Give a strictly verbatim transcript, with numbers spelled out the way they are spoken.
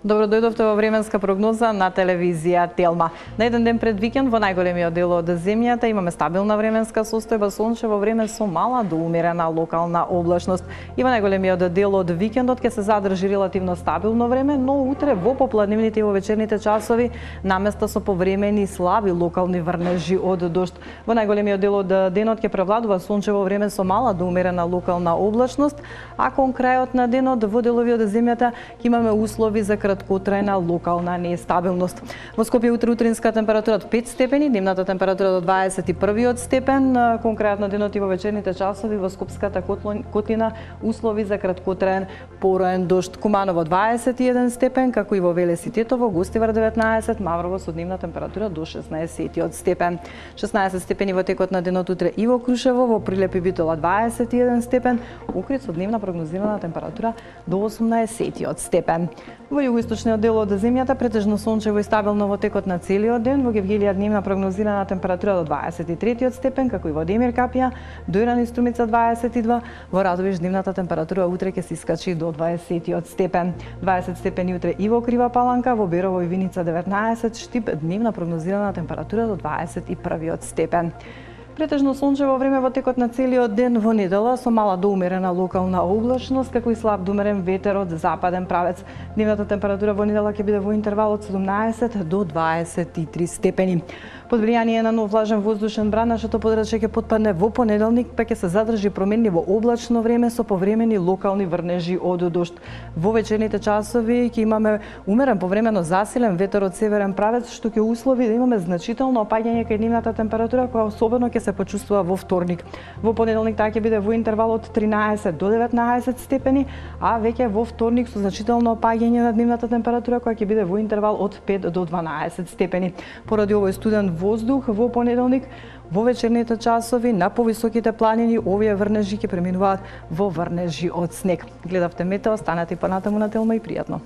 Добро дојдовте во временска прогноза на телевизија Телма. На еден ден пред викенд во најголемиот дел од земјата имаме стабилна временска состојба, сончево време со мала до умерена локална облачност. И во најголемиот дел од викендот ќе се задржи релативно стабилно време, но утре во попладневните и во вечерните часови наместа со повремени слаби локални врнежи од дожд. Во најголемиот дел од денот ќе превладува сончево време со мала до умерена локална облачност, а кон крајот на денот во делови од земјата ќе имаме услови за краткотрајна локална нестабилност. Во Скопје утре утринска температура од пет степени, дневната температура до дваесет и први степен, кон крајот на денот и во вечерните часови во Скопската котлина услови за краткотраен пороен дожд. Куманово дваесет и еден степен, како и во Велес и Тетово, Гостивар деветнаесет, Маврово со дневна температура до шеснаесет степен. шеснаесет степени во текот на денот утре и во Крушево, во Прилеп и Битола дваесет и еден степен, Охрид со дневна прогнозирана температура до осумнаесет степен. Во југоисточниот дел од земјата претежно сончево и стабилно во текот на целиот ден, во Гевгелија дневна прогнозирана температура до дваесет и трети степен, како и во Демир Капија, Дојран и Струмица дваесет и два, во Радовиш дневната температура утре ќе се искачи до дваесет степен. дваесет степени утре и во Крива Паланка, во Берово и Виница деветнаесет, Штип дневна прогнозирана температура до дваесет и први степен. Претежно сончево време во текот на целиот ден во недела со мала до умерена локална облачност, како и слаб до умерен ветер од западен правец. Дневната температура во недела ќе биде во интервал од седумнаесет до дваесет и три степени. Под влијание на нов влажен воздушен бран, нашето подрачје ќе потпадне во понеделник, па ќе се задржи променливо облачно време со повремени локални врнежи од дожд. Во вечерните часови ќе имаме умерен повремено засилен ветер од северен правец, што ќе услови да имаме значително опаѓање кај дневната температура, која особено ќе се почувствува во вторник. Во понеделник таа ќе биде во интервал од тринаесет до деветнаесет степени, а веќе во вторник со значително опаѓање на дневната температура, која ќе биде во интервал од пет до дванаесет степени. Поради овој студен воздух во понеделник, во вечерните часови на повисоките планини овие врнежи ќе преминуваат во врнежи од снег. Гледавте метео, станете и понатаму на Телма и пријатно.